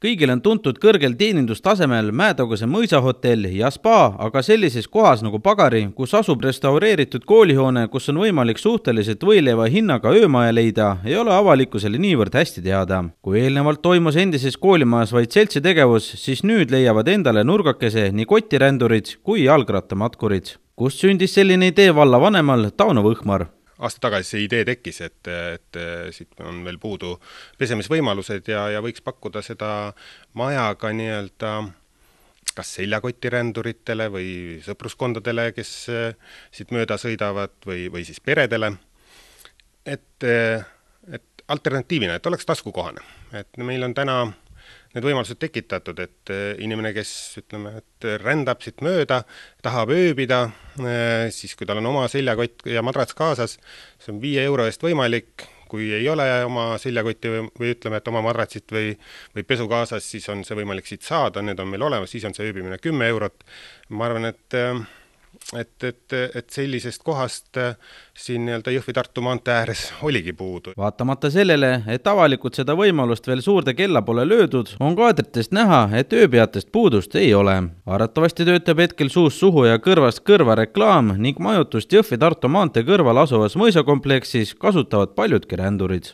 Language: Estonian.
kõigil on tuntud kõrgel teenindustasemel Mäetaguse mõisahotell ja spa, aga sellises kohas nagu Pagari, kus asub restaureeritud koolihoone, kus on võimalik suhteliselt võileiva hinnaga öömaja leida, ei ole avalikkusele niivõrd hästi teada. Kui eelnevalt toimus endises koolimajas vaid seltsitegevus, siis nüüd leiavad endale nurgakese nii kotirändurid kui jalgrattamatkurid. Kust sündis selline idee vallavanemal Tauno Võhmar? Aasta tagasi see idee tekkis, et siit on veel puudu pesemisvõimalused ja võiks pakkuda seda maja ka nii-öelda kas seljakotiränduritele või sõpruskondadele, kes siit mööda sõidavad või siis peredele. Et alternatiivina, et oleks taskukohane. Et meil on täna need võimalused tekitatud, et inimene, kes rändab siit mööda, tahab ööbida, siis kui tal on oma seljakott ja madrats kaasas, see on 5 euro eest võimalik. Kui ei ole oma seljakotti või ütleme, et oma madratsit või pesu kaasas, siis on see võimalik siit saada, need on meil olemas, siis on see ööbimine 10 eurot. Ma arvan, et sellisest kohast siin Jõhvi-Tartu maantee ääres oligi puudu. Vaatamata sellele, et avalikult seda võimalust veel suurde kella pole löödud, on kaadritest näha, et ööpeatest puudust ei ole. Arvatavasti töötab hetkel suust suhu ja kõrvast kõrva reklaam ning majutust Jõhvi-Tartu maantee kõrval asuvas mõisakompleksis kasutavad paljudki rändurid.